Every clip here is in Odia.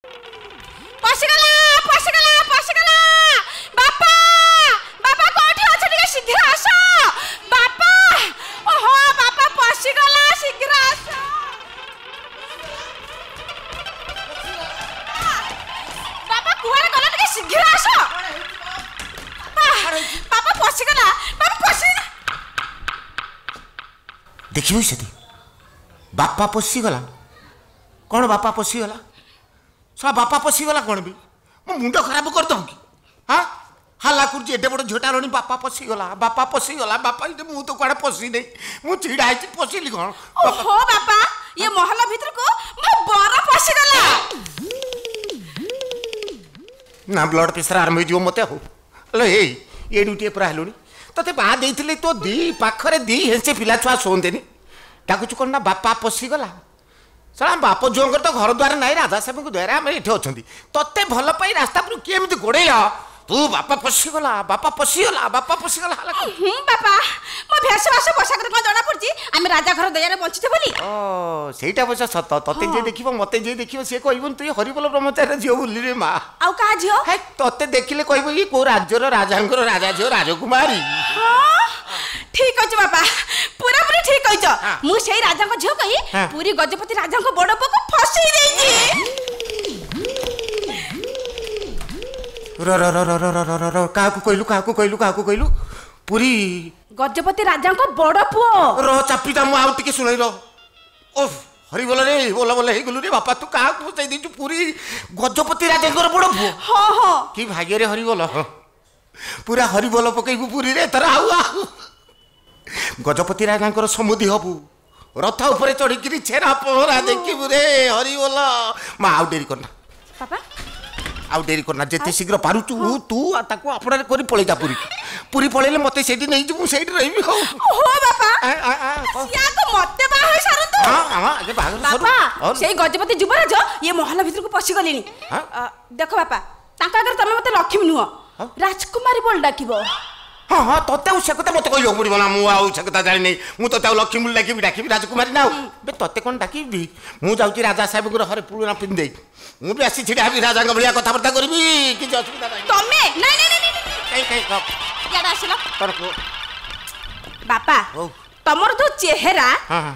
ପଶିଗଲା, ପଶିଗଲା, ପଶିଗଲା! ବାପା, ବାପା, କୋଉଠି ଅଛ? ଟିକେ ଶୀଘ୍ର ଆସ ବାପା। ଓହୋ ବାପା, ପଶିଗଲା, ଶୀଘ୍ର ଆସ ବାପା। କୁଆଡେ ଗଲା? ଟିକେ ଶୀଘ୍ର ଆସ ବାପା। ବାପା, ପଶିଗଲା ବାପା, ପଶିଗଲା। ଦେଖିବୁ ସେଠି, ବାପା ପଶିଗଲା। କ'ଣ ବାପା ପଶିଗଲା? ଶଳା ବାପା ପଶିଗଲା କ'ଣ ବି ମୋ ମୁଣ୍ଡ ଖରାପ କରିଦେବୁ କି? ହଁ, ହାଲା କରୁଛି। ଏତେ ବଡ଼ ଝିଅଟା ହେଲଣି, ବାପା ପଶିଗଲା, ବାପା ପଶିଗଲା, ବାପା। ମୁଁ ତ କୁଆଡ଼େ ପଶିନି, ମୁଁ ଛିଡ଼ା ହେଇଛି, ପଶିଲି କ'ଣ? ଓହୋ ବାପା, ଇଏ ମହଲ ଭିତରକୁ ମୋ ବର ପଶିଗଲା। ନା, ବ୍ଲଡ ପ୍ରେସର ଆରମ୍ଭ ହେଇଯିବ ମୋତେ। ହଉ ହଲୋ, ଏଇ ଏଡୁଟିଏ ପୁରା ହେଲୁଣି, ତତେ ବାହା ଦେଇଥିଲି ତୋ ଦି ପାଖରେ ଦି ହେଞ୍ଚେ ପିଲା ଛୁଆ ଶୁଅନ୍ତେନି, ଡାକୁଛୁ କ'ଣ ନା ବାପା ପଶିଗଲା। ଶଳା ବାପ ଝିଅଙ୍କର ତ ଘର ଦ୍ୱାର ନାହିଁ, ରାଜା ସାହେବଙ୍କ ଦ୍ୱାରା ଆମେ ଏଠି ଅଛନ୍ତି। ତତେ ଭଲ ପାଇ ରାସ୍ତା ଉପରୁ କିଏ ଏମିତି ଗୋଡ଼େଇଲା, ତୁ ବାପା ପଶିଗଲା, ବାପା ପଶିଗଲା, ବାପା ପଶିଗଲା। ହେଲା ହୁଁ ବାପା, ମୋ ଭେଷ ବାସ ପୋଷାକରେ କ'ଣ ଜଣା ପଡୁଛି ଆମେ ରାଜା ଘର ଦୟାରେ ବଞ୍ଚିଛେ ବୋଲି? ଓ ସେଇଟା ଅବଶ୍ୟ ସତ। ତତେ ଯିଏ ଦେଖିବ, ମତେ ଯିଏ ଦେଖିବ, ସିଏ କହିବନି ତୁଇ ହରିବୋଲ ବ୍ରହ୍ମଚାରୀର ଝିଅ ବୋଲି ରେ ମା। ଆଉ କାହା ଝିଅ? ହେ, ତତେ ଦେଖିଲେ କହିବ କି କୋଉ ରାଜ୍ୟର ରାଜାଙ୍କର ରାଜା ଝିଅ, ରାଜକୁମାରୀ। ହଁ, ଠିକ କହିଛ ବାପା, ପୁରାପୁରି ଠିକ କହିଛ। ମୁଁ ସେଇ ରାଜାଙ୍କ ଝିଅ କହି ପୁରୀ ଗଜପତି ରାଜାଙ୍କ ବଡ ପୁଅକୁ ଫସେଇ ଦେଇଛି। ର ର ର ର ର ର ର ର, କାହାକୁ କହିଲୁ? କାହାକୁ କହିଲୁ? କାହାକୁ କହିଲୁ? ପୁରୀ ଗଜପତି ରାଜାଙ୍କ ବଡ ପୁଅ। ର, ଚାପିଟା ମୁଁ ଆଉ ଟିକେ ଶୁଣେଇ ର। ଓଃ ହରିବୋଲ ରେ, ବୋଲ ବୋଲ ହେଇଗଲୁ ରେ ବାପା। ତୁ କାହାକୁ ଫସେଇ ଦେଇଛୁ? ପୁରୀ ଗଜପତି ରାଜାଙ୍କର ବଡ ପୁଅ? ହଁ ହଁ। କି ଭାଗ୍ୟରେ ହରିବୋଲ, ପୁରା ହରିବୋଲ ପକେଇବୁ ପୁରୀରେ ଏଥର। ଆଉ ଆଉ ଗଜପତି ରାଜାଙ୍କର ସମୁଦି ହବୁ, ରଥ ଉପରେ ଚଢିକିରି ଛେରା ପହଁରା ଦେଖିବୁ ରେ ହରିବୋଲ। ମା, ଆଉ ଡେରି କରନା ବାପା, ଆଉ ଡେରି କରନା। ଯେତେ ଶୀଘ୍ର ପାରୁଛୁ ତୁ ଆଉ ତାକୁ ଆପଣାରେ କରି ପଳେଇ ଯା ପୁରୀ। ପୁରୀ ପଳେଇଲେ ମତେ ସେଇଠି ନେଇଯିବୁ, ମୁଁ ସେଇଠି ରହିବି। ହଉ ହୋ ବାପା, ସିଆ ତ ମତେ ବାହା ହେଇ ସାରନ୍ତୁ। ହଁ ହଁ, ଆଗେ ବାହାଘର ସରୁ। ବାପା, ସେଇ ଗଜପତି ଯୁବରାଜ ଇଏ ମହଲ ଭିତରକୁ ପଶିଗଲେଣି। ଦେଖ ବାପା, ତାଙ୍କ ଆଗରେ ତମେ ମତେ ଲକ୍ଷ୍ମୀ ନୁହଁ, ରାଜକୁମାରୀ ବୋଲି ଡାକିବ। ହଁ ହଁ, ତତେ ଆଉ ସେ କଥା ମତେ କହିବାକୁ ପଡିବ ନା? ମୁଁ ଆଉ ସେ କଥା ଜାଣିନି। ମୁଁ ତତେ ଆଉ ଲକ୍ଷ୍ମୀ ବୋଲି ଡାକିବି? ଡାକିବି ରାଜକୁମାରୀ ନା। ଆଉ ବେ ତତେ କ'ଣ ଡାକିବି? ମୁଁ ଯାଉଛି ରାଜା ସାହେବଙ୍କର ଘରେ ପୁରୁଣା ପିନ୍ଧେଇ ମୁଁ ବି ଆସି ଛିଡ଼ା ହେବି, ରାଜାଙ୍କ ଭଳିଆ କଥାବାର୍ତ୍ତା କରିବି, କିଛି ଅସୁବିଧା ନାହିଁ। ତମେ ନାଇଁ ନାଇଁ ନାଇଁ। କାଇଁ କାଇଁ, ଇଆଡ଼େ ଆସିଲ କଣ କୁହ ବାପା। ତମର ଯୋଉ ଚେହେରା,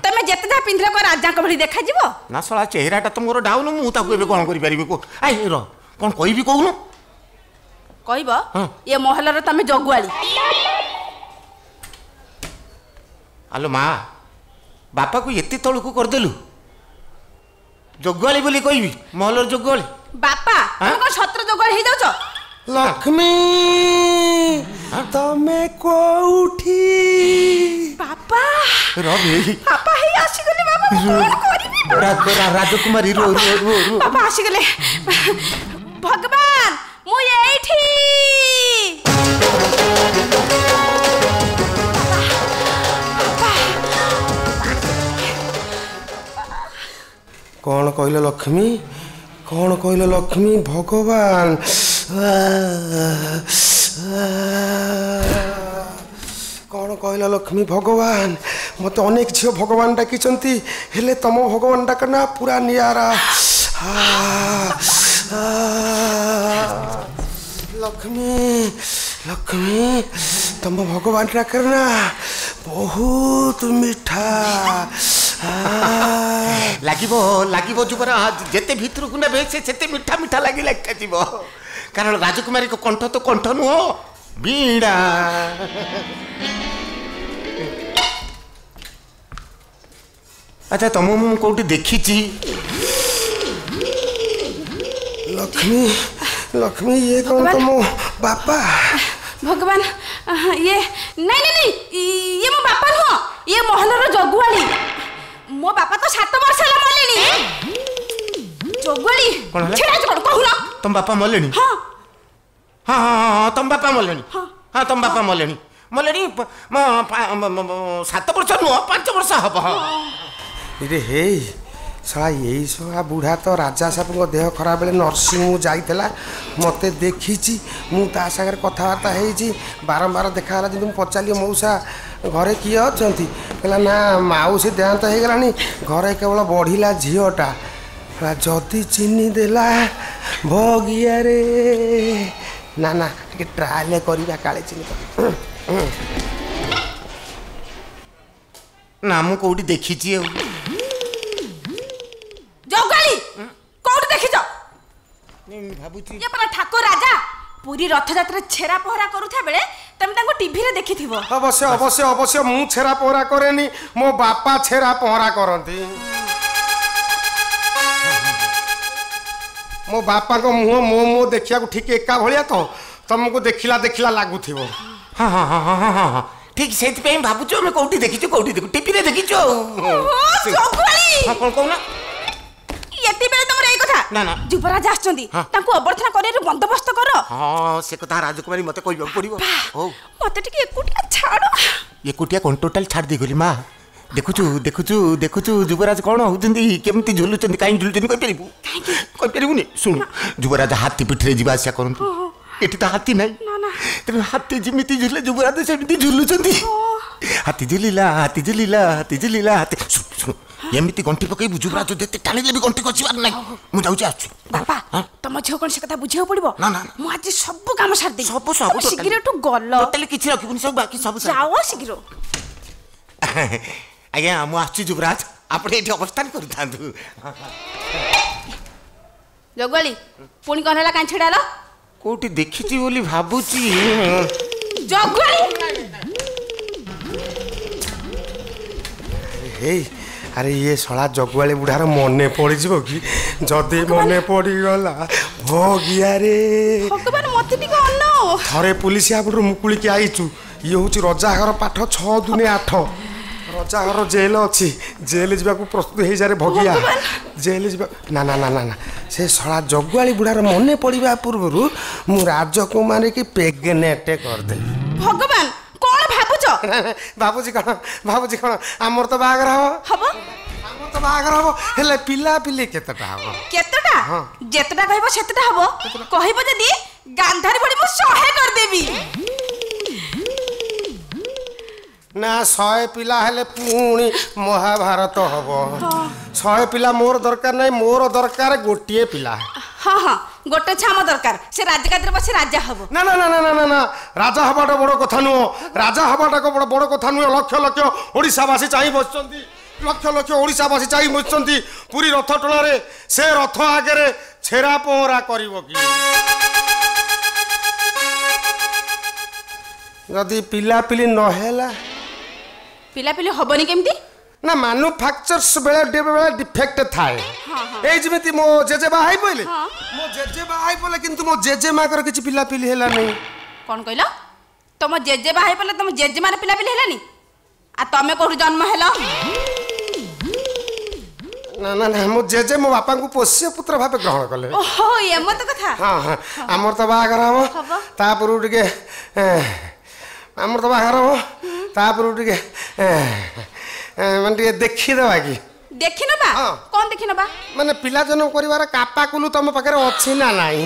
ତମେ ଯେତେ ଯାହା ପିନ୍ଧିଲେ କଣ ରାଜାଙ୍କ ଭଳି ଦେଖାଯିବ? ନା ଶଳା, ଚେହେରାଟା ତ ମୋର ଡାଉନ, ମୁଁ ତାକୁ ଏବେ କ'ଣ କରିପାରିବି କୁହ? I ର, କ'ଣ କହିବି କହୁନୁ? କହିବ ଏ ମହଲର ତମେ ଜଗୁଆଳି। ଆଲୋ ମା, ବାପାକୁ ଏତେ ତଳକୁ କରିଦେଲୁ, ଜଗୁଆଳି ବୋଲି କହିବି ମହଲର ଜଗୁଆଳି? ବାପା, ତମେ କଣ ସତ୍ର ଜଗୁଆଳି ହେଇଯାଉଛ? ଲକ୍ଷ୍ମୀ, ତମେ କୋଉଠି? ବାପା ରବି, ବାପା ହେଇ ଆସିଗଲେ। ବାପା, ମୁଁ କଣ କରିବି? ରାଜକୁମାରୀ, ରୁହ ରୁହ ରୁହ ରୁହ। ବାପା ଆସିଗଲେ। ଭଗବାନ, ମୁଁ ଏଇଠି। କ'ଣ କହିଲ ଲକ୍ଷ୍ମୀ? କ'ଣ କହିଲ ଲକ୍ଷ୍ମୀ? ଭଗବାନ। କ'ଣ କହିଲ ଲକ୍ଷ୍ମୀ? ଭଗବାନ। ମୋତେ ଅନେକ ଝିଅ ଭଗବାନ ଡାକିଛନ୍ତି, ହେଲେ ତମ ଭଗବାନ ଡାକ ନା ପୁରା ନିଆରା। ଲକ୍ଷ୍ମୀ, ଲକ୍ଷ୍ମୀ, ତମ ଭଗବାନ ଡାକରେ ନା ବହୁତ ମିଠା ଲାଗିବ। ଲାଗିବ ଯୁବରାଜ, ଯେତେ ଭିତରକୁ ନେବେ ସେ ସେତେ ମିଠା ମିଠା ଲାଗି ଲାଗିଯିବ, କାରଣ ରାଜକୁମାରୀଙ୍କ କଣ୍ଠ ତ କଣ୍ଠ ନୁହଁ, ବୀଣା। ଆଚ୍ଛା, ତମକୁ ମୁଁ କୋଉଠି ଦେଖିଛି। ଲକ୍ଷ୍ମୀ, ଲକ୍ଷ୍ମୀ, ଇଏ କ'ଣ ତମ ବାପା? ଭଗବାନ, ଇଏ ନାଇଁ ନାଇଁ ନାଇଁ, ଇଏ ମୋ ବାପା ନୁହଁ, ଇଏ ମହଲର ଜଗୁଆଳି। ମୋ ବାପା ତ 7 ବର୍ଷ ହେଲା ମଲେଣି। ଜଗୁଆଳି ଛିଡ଼ା ହେଇଛ କଣ କହୁନ? ତମ ବାପା ମଲେଣି? ହଁ ହଁ ହଁ ହଁ, ତମ ବାପା ମଲେଣି। ହଁ, ତମ ବାପା ମଲେଣି, ମଲେଣି 7 ବର୍ଷ ନୁହଁ, 5 ବର୍ଷ ହବ। ହଁ ରେ, ହେଇ ଶଳା, ଏଇ ଶଳା ବୁଢ଼ା ତ ରାଜା ସାହେବଙ୍କ ଦେହ ଖରାପ ବେଳେ ନର୍ସିଂ ଯାଇଥିଲା, ମୋତେ ଦେଖିଛି, ମୁଁ ତା ସାଙ୍ଗରେ କଥାବାର୍ତ୍ତା ହେଇଛି। ବାରମ୍ବାର ଦେଖାହେଲା। ଯେମିତି ମୁଁ ପଚାରିଲି, ମଉସା ଘରେ କିଏ ଅଛନ୍ତି? କହିଲା ନା ମାଉସୀ ଦେହାନ୍ତ ହେଇଗଲାଣି, ଘରେ କେବଳ ବଢ଼ିଲା ଝିଅଟା। ଯଦି ଚିହ୍ନି ଦେଲା ଭଗିଆରେ, ନା ନା, ଟିକେ ଟ୍ରାଏଲ କରିବା, କାଳେ ଚିହ୍ନି। ନା, ମୁଁ କୋଉଠି ଦେଖିଛି ଆଉ। ଜଗାଳି, କୋଉଠି ଦେଖିଛ? ଭାବୁଛି, ଇଏ ପରା ଠାକୁର ରାଜା। ପୁରୀ ରଥଯାତ୍ରା ଛେରା ପହରା କରୁଥିବା ବେଳେ ତମେ ତାଙ୍କୁ ଟିଭିରେ ଦେଖିଥିବ। ଅବଶ୍ୟ ଅବଶ୍ୟ ଅବଶ୍ୟ, ମୁଁ ଛେରା ପହଁରା କରେନି, ମୋ ବାପା ଛେରା ପହଁରା କରନ୍ତି। ମୋ ବାପାଙ୍କ ମୁହଁ ମୋ ମୁହଁ ଦେଖିବାକୁ ଠିକ ଏକା ଭଳିଆ, ତ ତମକୁ ଦେଖିଲା ଦେଖିଲା ଲାଗୁଥିବ। ହଁ ହଁ ହଁ ହଁ ହଁ ହଁ, ଠିକ, ସେଇଥିପାଇଁ ଭାବୁଛୁ ଆମେ କୋଉଠି ଦେଖିଛୁ, କୋଉଠି ଦେଖୁ, ଟିଭିରେ ଦେଖିଛୁ ଆଉ। ଜଗୁଆଳି! ହଁ, କଣ କହୁନା? ଏତେ ବେଳେ ତମର ଏଇ କଥା? ନା ନା, ଯୁବରାଜ ଆସିଛନ୍ତି, ତାଙ୍କୁ ଅଭ୍ୟର୍ଥନା କରିବାର ବନ୍ଦୋବସ୍ତ କର। ହଁ, ସେ କଥା ରାଜକୁମାରୀ ମତେ କହିବାକୁ ପଡିବ। ହଉ, ମତେ ଟିକେ ଏକୁଟିଆ ଛାଡ। ଏକୁଟିଆ କଣ, ଟୋଟାଲ ଛାଡ଼ି ଦେଇଗଲି ମା। ଦେଖୁଛୁ ଦେଖୁଛୁ ଦେଖୁଛୁ, ଯୁବରାଜ କ'ଣ ହଉଛନ୍ତି, କେମିତି ଝୁଲୁଛନ୍ତି। କାହିଁକି ଝୁଲୁଛନ୍ତି କହିପାରିବୁ? କହିପାରିବୁନି? ଶୁଣୁ, ଯୁବରାଜ ହାତୀ ପିଠିରେ ଯିବା ଆସିବା କରନ୍ତୁ। ଏଠି ତ ହାତୀ ନାହିଁ, ତେଣୁ ହାତୀ ଯେମିତି ଝୁଲେ ଯୁବରାଜ ସେମିତି ଝୁଲୁଛନ୍ତି। ହାତୀ ଝୁଲିଲା, ହାତୀ ଝୁଲିଲା, ହାତୀ ଝୁଲିଲା, ହାତୀ। ଶୁଣୁ ଶୁଣୁ, ଏମିତି ଗଣ୍ଠି ପକେଇବୁ, ଯୁବରାଜ ଯେତେ ଟାଣିଲେ ବି ଗଣ୍ଠି ଖସିବାର ନାହିଁ। ମୁଁ ଯାଉଛି, ଆସୁଛି। ବାପା, ତମ ଝିଅ କଣ ସେ କଥା ବୁଝିବାକୁ ପଡିବ? ନା ନା, ମୁଁ ଆଜି ସବୁ କାମ ସାରିଦେବି, ସବୁ ସବୁ। ଶୀଘ୍ର ଏଠୁ ଗଲ। ଟୋଟାଲି କିଛି ରଖିବୁନି, ସବୁ ବାକି ସବୁ। ଯାଅ ଶୀଘ୍ର। ଆଜ୍ଞା, ମୁଁ ଆସୁଛି। ଯୁବରାଜ, ଆପଣ ଏଇଠି ଅବସ୍ଥାନ କରୁଥାନ୍ତୁ। ଜଗୁଆଳି, ପୁଣି କଣ ହେଲା? କାହିଁ ଛିଡ଼ା ହେଲା? କୋଉଠି ଦେଖିଛି ବୋଲି ଭାବୁଛି। ଜଗୁଆଳି! ହେଇ, ଆରେ ଇଏ ଶଳା ଜଗୁଆଳି ବୁଢ଼ାର ମନେ ପଡ଼ିଯିବ କି? ଯଦି ମନେ ପଡ଼ିଗଲା ଭଗିଆରେ! ଭଗବାନ, ମତେ ଟିକେ ଅନାଅ। ଥରେ ପୁଲିସ ଆପଟରୁ ମୁକୁଳିକି ଆଇଛୁ। ଇଏ ହେଉଛି ରଜାଘର ପାଠ, 6 ଦୁନେ 8। ରଜାଘର ଜେଲ ଅଛି, ଜେଲ ଯିବାକୁ ପ୍ରସ୍ତୁତ ହେଇଯାରେ ଭଗିଆ, ଜେଲ ଯିବା। ନା ନା ନା ନା ନା, ସେ ଶଳା ଜଗୁଆଳି ବୁଢ଼ାର ମନେ ପଡ଼ିବା ପୂର୍ବରୁ ମୁଁ ରାଜକୁମାରୀ କି ପ୍ରେଗନେଣ୍ଟ କରିଦେବି। ଭଗବାନ, କଣ ଭାବୁଛ? ଭାବୁଛି କଣ, ଭାବୁଛି କଣ, ଆମର ତ ବାହାଘର ହବ। ହବ। ଆମର ତ ବାହାଘର ହବ, ହେଲେ ପିଲାପିଲି କେତେଟା ହବ? କେତେଟା? ଯେତେଟା କହିବ ସେତେଟା ହବ। କହିବ ଯଦି ଗାନ୍ଧାରୀ ଭଳି ମୁଁ 100 କରିଦେବି। ନା, 100 ପିଲା ହେଲେ ପୁଣି ମହାଭାରତ ହବ। 100 ପିଲା ମୋର ଦରକାର ନାହିଁ, ମୋର ଦରକାର ଗୋଟିଏ ପିଲା। ହଁ ହଁ, ଗୋଟେ ଛାମ ଦରକାର, ସେ ରାଜଗାଦିରେ ବସି ରାଜା ହବ। ନା ନା ନା ନା ନା ନା, ରାଜା ହବାଟା ବଡ଼ କଥା ନୁହଁ, ରାଜା ହବାଟା ବଡ଼ ବଡ଼ କଥା ନୁହେଁ। ଲକ୍ଷ ଲକ୍ଷ ଓଡ଼ିଶାବାସୀ ଚାହିଁ ବସିଛନ୍ତି, ଲକ୍ଷ ଲକ୍ଷ ଓଡ଼ିଶାବାସୀ ଚାହିଁ ବସିଛନ୍ତି ପୁରୀ ରଥ ଟଣାରେ, ସେ ରଥ ଆଗରେ ଛେରା ପହଁରା କରିବ କି? ଯଦି ପିଲାପିଲି ନହେଲା? ପିଲାପିଲି ହବନି କେମିତି? ନା, ମାନୁଫାକ୍ଚର୍ସ ବେଳେ ବେଳେ ଡିଫେକ୍ଟ ଥାଏ। ଏଇ ଯେମିତି ମୋ ଜେଜେ ବାହା ହେଇ ପଇଲେ, ମୋ ଜେଜେ ବାହା ହେଇ ପଇଲେ, କିନ୍ତୁ ମୋ ଜେଜେ ମାଙ୍କର କିଛି ପିଲାପିଲି ହେଲାନି। କଣ କହିଲ? ତମ ଜେଜେ ବାହା ହେଇ ପଇଲେ, ତମ ଜେଜେମାର ପିଲାପିଲି ହେଲାନି, ଆଉ ତମେ କୋଉଠୁ ଜନ୍ମ ହେଲ? ନା ନା ନା, ମୋ ଜେଜେ ମୋ ବାପାଙ୍କୁ ପୋଷ୍ୟ ପୁତ୍ର ଭାବେ ଗ୍ରହଣ କଲେ। ଓହୋ, ଏମତ କଥା। ହଁ ହଁ, ଆମର ତ ବାହାଘର ହବ, ତାପରୁ ଟିକେ, ଆମର ତ ବାହାଘର ହବ, ତାପରୁ ଟିକେ ମାନେ ଟିକେ ଦେଖିଦେବା କି? ଦେଖିନବା? କଣ ଦେଖିନବା? ମାନେ ପିଲା ଜନ୍ମ କରିବାର କାପାକୁଲୁ ତମ ପାଖରେ ଅଛି ନା ନାହିଁ?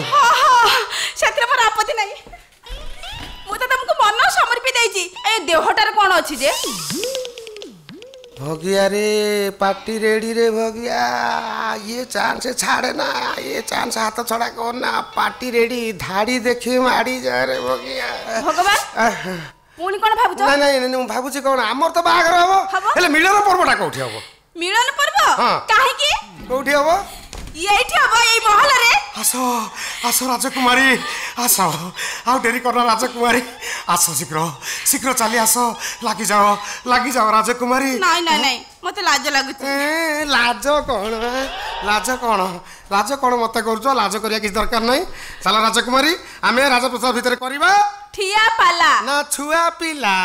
ସେଥିରେ ମୋର ଆପତ୍ତି ନାହିଁ। ମୁଁ ତ ତମକୁ ମନ ସମର୍ପି ଦେଇଛି, ଏ ଦେହଟାରେ କଣ ଅଛି ଯେ। ଭଗିଆରେ, ପାଟି ରେଡି ରେ ଭଗିଆ, ଇଏ ଚାନ୍ସ ଛାଡ଼େ ନା, ଇଏ ଚାନ୍ସ ହାତ ଛଡ଼ା କର ନା। ପାଟି ରେଡି, ଧାଡ଼ି ଦେଖି ମାଡ଼ି ଯାରେ ଭଗିଆ। ଭଗବାନ, ପୁଣି କଣ ଭାବୁଛ? ନାଇଁ ନାଇଁ, ମୁଁ ଭାବୁଛି କଣ, ଆମର ତ ବାହାଘର ହବ, ହେଲେ ମିଳନ ପର୍ବଟା କୋଉଠି ହବ? ମିଳନ ପର୍ବ? କାହିଁକି? କୋଉଠି ହବ? ଏଇଠି ହବ, ଏଇ ମହଲରେ। ଆସ ଆସ ରାଜକୁମାରୀ ଆସ, ଆଉ ଡେରି କରନା ରାଜକୁମାରୀ, ଆସ ଶୀଘ୍ର ଶୀଘ୍ର ଚାଲି ଆସ, ଲାଗିଯାଅ ଲାଗିଯାଅ ରାଜକୁମାରୀ। ନାଇଁ ନାଇଁ ନାଇଁ, ମତେ ଲାଜ ଲାଗୁଛି। ଲାଜ କଣ, ଲାଜ କଣ, ଲାଜ କଣ ମତେ କରୁଛ? ଲାଜ କରିବା କିଛି ଦରକାର ନାହିଁ। ଚାଲ ରାଜକୁମାରୀ, ଆମେ ରାଜପ୍ରସାଦ ଭିତରେ କରିବା ଠିଆ ପାଲା। ନା, ଛୁଆ ପିଲା।